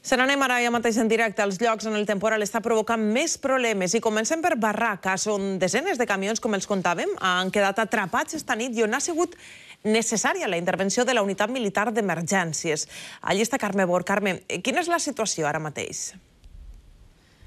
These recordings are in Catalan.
Se n'anem ara ja mateix en directe als llocs on el temporal està provocant més problemes i comencem per Barracas, on desenes de camions, com els contàvem, han quedat atrapats esta nit i on ha sigut necessària la intervenció de la unitat militar d'emergències. Allí està Carme Bor. Carme, quina és la situació ara mateix?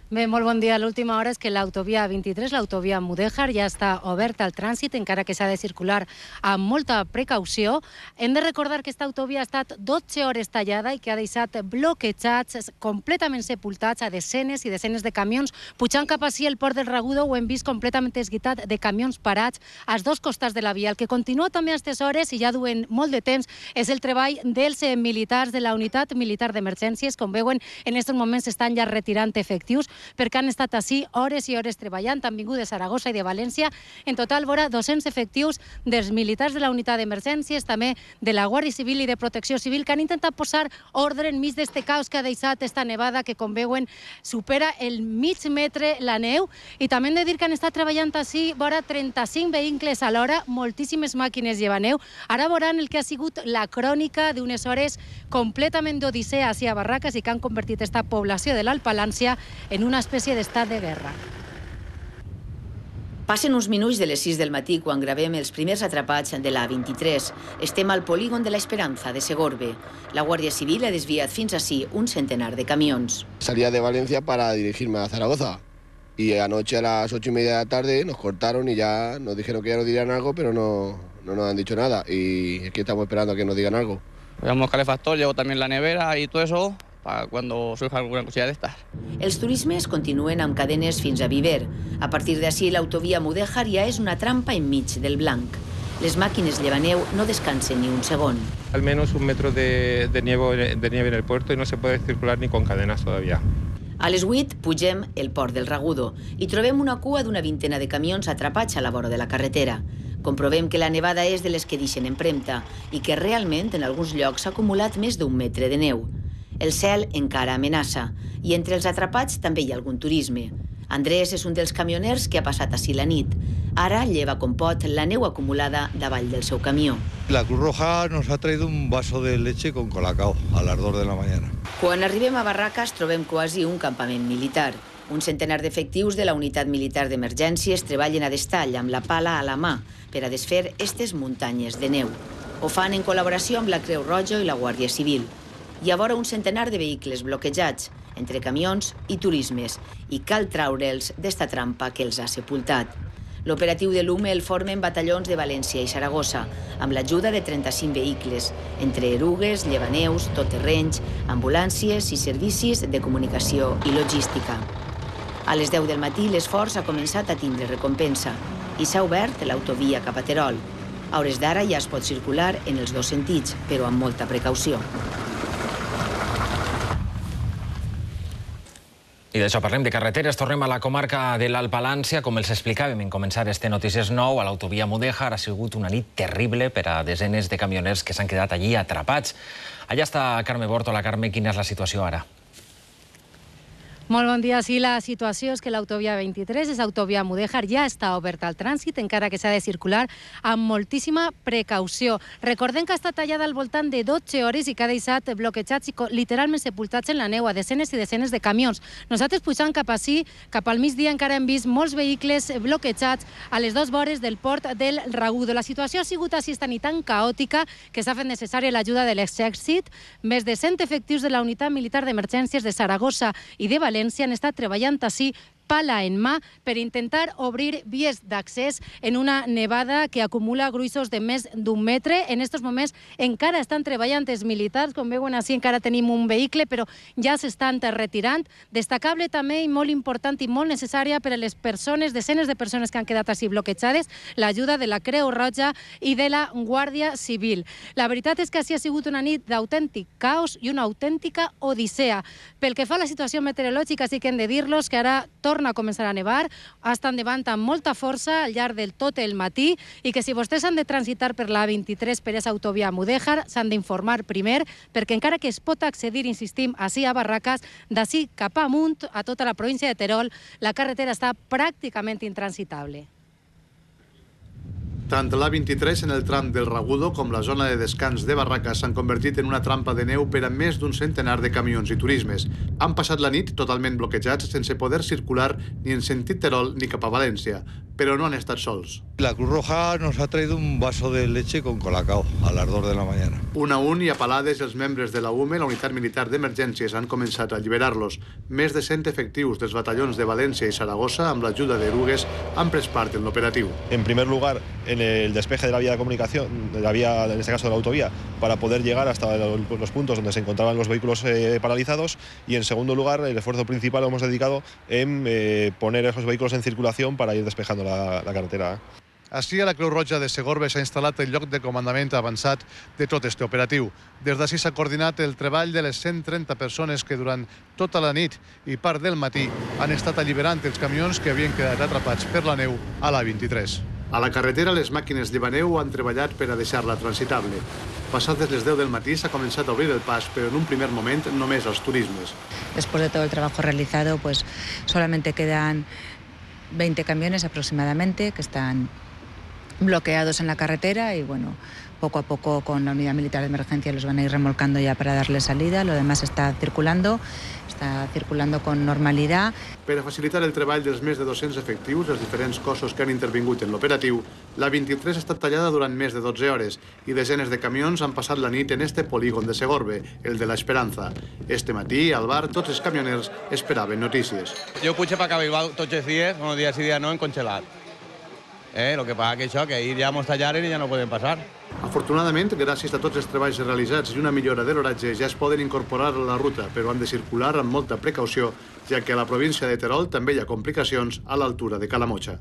Bé, molt bon dia. L'última hora és que l'autovia 23, l'autovia Mudéjar, ja està oberta al trànsit, encara que s'ha de circular amb molta precaució. Hem de recordar que aquesta autovia ha estat 12 hores tallada i que ha deixat bloquejats, completament sepultats a desenes i desenes de camions. Pujant cap així el port del Ragudo ho hem vist completament esguitat de camions parats als dos costats de la via. El que continua també a aquestes hores, i ja duen molt de temps, és el treball dels militars de la unitat militar d'emergències. Com veuen, en aquests moments estan ja retirant efectius, perquè han estat així hores i hores treballant. Han vingut de Saragossa i de València. En total, vora 200 efectius dels militars de la unitat d'emergències, també de la Guàrdia Civil i de Protecció Civil, que han intentat posar ordre enmig d'este caos que ha deixat esta nevada, que, com veuen, supera el mig metre la neu. I també hem de dir que han estat treballant així vora 35 vehicles a l'hora, moltíssimes màquines llevant neu. Ara veuran el que ha sigut la crònica d'unes hores completament d'odissea així a Barracas i que han convertit esta població de l'Alt Palància en una espècie d'estat de guerra. Passen uns minuts de les 6 del matí quan gravem els primers atrapats de la A23. Estem al polígon de la Esperanza, de Segorbe. La Guàrdia Civil ha desviat fins ací un centenar de camions. Salía de Valencia para dirigirme a Zaragoza. Y anoche a las 8:30 de la tarde nos cortaron y ya nos dijeron que ya nos dirían algo, pero no nos han dicho nada. Y aquí estamos esperando a que nos digan algo. Llevamos calefactor, llevo también la nevera y todo eso, para cuando surja alguna cosilla de estas. Els turismes continuen amb cadenes fins a Viver. A partir d'ací, l'autovia Mudéjar ja és una trampa enmig del blanc. Les màquines llevaneu no descansen ni un segon. Al menos 1 metro de nieve en el puerto y no se puede circular ni con cadenas todavía. A les 8 pugem el port del Ragudo i trobem una cua d'una vintena de camions atrapats a la vora de la carretera. Comprovem que la nevada és de les que deixen empremta i que realment en alguns llocs s'ha acumulat més d'1 metre de neu. El cel encara amenaça i entre els atrapats també hi ha algun turisme. Andrés és un dels camioners que ha passat així la nit. Ara lleva com pot la neu acumulada davall del seu camió. La Cruz Roja nos ha traído un vaso de leche con colacao a las 2 de la mañana. Quan arribem a Barracas trobem quasi un campament militar. Un centenar d'efectius de la unitat militar d'emergències treballen a destall amb la pala a la mà per a desfer aquestes muntanyes de neu. Ho fan en col·laboració amb la Creu Roja i la Guàrdia Civil. Hi ha vora un centenar de vehicles bloquejats, entre camions i turismes, i cal traure'ls d'esta trampa que els ha sepultat. L'operatiu de l'UME el formen batallons de València i Saragossa, amb l'ajuda de 35 vehicles, entre erugues, llevaneus, totterrenys, ambulàncies i servicis de comunicació i logística. A les 10 del matí l'esforç ha començat a tindre recompensa i s'ha obert l'autovia cap a Terol. A hores d'ara ja es pot circular en els dos sentits, però amb molta precaució. I d'això parlem de carreteres. Tornem a la comarca de l'Alt Palància. Com els explicàvem en començar este Notícies Nou, a l'autovia Mudéjar ha sigut una nit terrible per a desenes de camioners que s'han quedat allí atrapats. Allà està Carme Bort. Hola, Carme, quina és la situació ara? Molt bon dia. Sí, la situació és que l'autovia 23, és autovia Mudéjar, ja està oberta al trànsit, encara que s'ha de circular amb moltíssima precaució. Recordem que ha estat tallada al voltant de 12 hores i que ha deixat bloquejats i literalment sepultats en la neu a desenes i desenes de camions. Nosaltres pujant cap ací, cap al migdia, encara hem vist molts vehicles bloquejats a les dues vores del port del Ragudo. La situació ha sigut així esta nit tan caòtica que s'ha fet necessària l'ajuda de l'exèrcit. Més de 100 efectius de la unitat militar d'emergències de Saragossa i de València han estat treballant així pala en mà per intentar obrir vies d'accés en una nevada que acumula gruixos de més d'1 metre. En aquests moments encara estan treballant els militars, com veuen així encara tenim un vehicle, però ja s'estan retirant. Destacable també i molt important i molt necessària per a les persones, desenes de persones que han quedat així bloquejades, l'ajuda de la Creu Roja i de la Guàrdia Civil. La veritat és que així ha sigut una nit d'autèntic caos i una autèntica odissea. Pel que fa a la situació meteorològica, sí que hem de dir-los que ara torna a començar a nevar, està endavant amb molta força al llarg del tot el matí i que si vostès han de transitar per la A23 per aquesta autovia Mudéjar s'han d'informar primer perquè encara que es pot accedir, insistim, així a Barracas, d'ací cap amunt a tota la província de Terol, la carretera està pràcticament intransitable. Tant l'A23 en el tram del Ragudo com la zona de descans de Barraques s'han convertit en una trampa de neu per a més d'un centenar de camions i turismes. Han passat la nit totalment bloquejats sense poder circular ni en sentit Terol ni cap a València, però no han estat sols. La Cruz Roja nos ha traído un vaso de leche con colacao a las 2 de la mañana. Un a un i a palades els membres de la UME, la Unitat Militar d'Emergències, han començat a alliberar-los. Més de 100 efectius dels batallons de València i Saragossa, amb l'ajuda d'erugues, han pres part en l'operatiu. En primer lugar, en el despeje de la vía de comunicación, de la vía, en este caso de la autovía, para poder llegar hasta los puntos donde se encontraban los vehículos paralizados, y en segundo lugar, el esfuerzo principal lo hemos dedicado en poner esos vehículos en circulación para ir despejando la carretera. Així, a la Creu Roja de Segorbe s'ha instal·lat el lloc de comandament avançat de tot este operatiu. Des d'ací s'ha coordinat el treball de les 130 persones que durant tota la nit i part del matí han estat alliberant els camions que havien quedat atrapats per la neu a l'A23. A la carretera, les màquines llevaneu han treballat per a deixar-la transitable. Passades les 10 del matí s'ha començat a obrir el pas, però en un primer moment només als turismes. Después de todo el trabajo realizado, pues solamente quedan 20 camiones aproximadamente que están bloqueados en la carretera y bueno, poco a poco con la Unidad Militar de Emergencia los van a ir remolcando ya para darle salida. Lo demás está circulando con normalidad. Per a facilitar el treball dels més de 200 efectius, els diferents cossos que han intervingut en l'operatiu, la 23 ha estat tallada durant més de 12 hores i desenes de camions han passat la nit en este polígon de Segorbe, el de la Esperanza. Este matí, al bar, tots els camioners esperaven notícies. Jo puig per Cabelbau tots els dies, unos días sí, días no, en congelat. Lo que pasa que això, que ahir ja mos tallaren i ja no poden passar. Afortunadament, gràcies a tots els treballs realitzats i una millora de l'horatge, ja es poden incorporar a la ruta, però han de circular amb molta precaució, ja que a la província de Terol també hi ha complicacions a l'altura de Calamotxa.